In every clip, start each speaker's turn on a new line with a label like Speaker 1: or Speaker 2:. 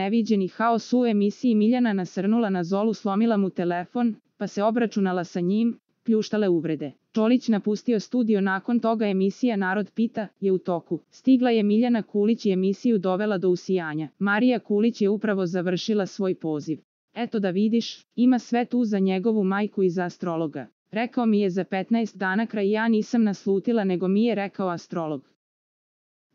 Speaker 1: Neviđeni haos u emisiji. Miljana nasrnula na Zolu, slomila mu telefon, pa se obračunala sa njim, pljuštale uvrede. Čolić napustio studio. Nakon toga emisija Narod pita je u toku. Stigla je Miljana Kulić i emisiju dovela do usijanja. Marija Kulić je upravo završila svoj poziv. Eto da vidiš, ima sve tu za njegovu majku i za astrologa. Rekao mi je za 15 dana kraj, ja nisam naslutila, nego mi je rekao astrolog.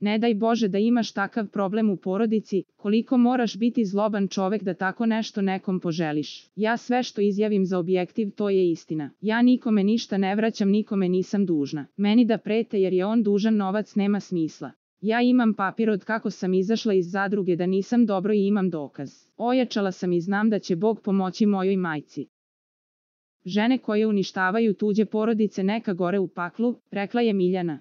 Speaker 1: Ne daj Bože da imaš takav problem u porodici, koliko moraš biti zloban čovek da tako nešto nekom poželiš. Ja sve što izjavim za objektiv, to je istina. Ja nikome ništa ne vraćam, nikome nisam dužna. Meni da prete jer je on dužan novac nema smisla. Ja imam papir od kako sam izašla iz zadruge da nisam dobro i imam dokaz. Ojačala sam i znam da će Bog pomoći mojoj majci. Žene koje uništavaju tuđe porodice neka gore u paklu, rekla je Miljana.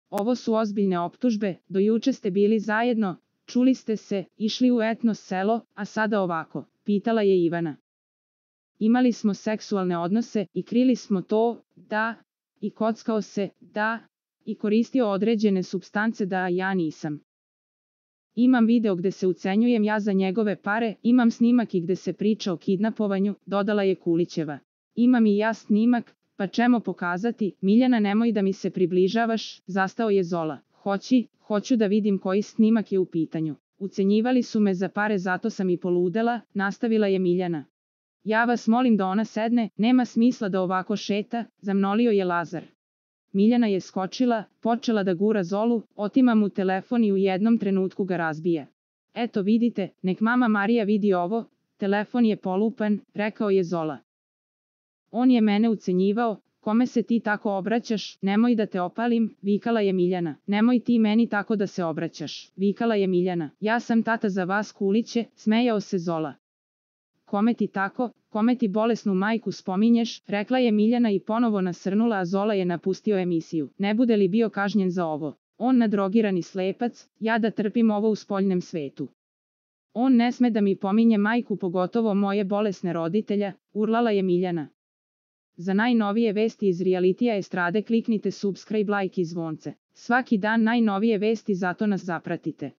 Speaker 1: Ovo su ozbiljne optužbe, do juče ste bili zajedno, čuli ste se, išli u etno selo, a sada ovako, pitala je Ivana. Imali smo seksualne odnose i krili smo to, da, i kockao se, da, i koristio određene supstance, da, a ja nisam. Imam video gde se ucenjujem ja za njegove pare, imam snimak i gde se priča o kidnapovanju, dodala je Kulićeva. Imam i ja snimak, pa čemo pokazati? Miljana, nemoj da mi se približavaš, zastao je Zola. Hoću da vidim koji snimak je u pitanju. Ucenjivali su me za pare, zato sam i poludela, nastavila je Miljana. Ja vas molim da ona sedne, nema smisla da ovako šeta, zamolio je Lazar. Miljana je skočila, počela da gura Zolu, otima mu telefon i u jednom trenutku ga razbija. Eto vidite, nek mama Marija vidi ovo, telefon je polupan, rekao je Zola. On je mene ucenjivao, kome se ti tako obraćaš, nemoj da te opalim, vikala je Miljana. Nemoj ti meni tako da se obraćaš, vikala je Miljana. Ja sam tata za vas Kuliće, smejao se Zola. Kome ti tako, kome ti bolesnu majku spominješ, rekla je Miljana i ponovo nasrnula, a Zola je napustio emisiju. Ne bude li bio kažnjen za ovo? On nadrogirani slepac, ja da trpim ovo u spoljnem svetu. On ne sme da mi pominje majku, pogotovo moje bolesne roditelja, urlala je Miljana. Za najnovije vesti iz realitija estrade kliknite subscribe, like i zvonce. Svaki dan najnovije vesti, zato nas zapratite.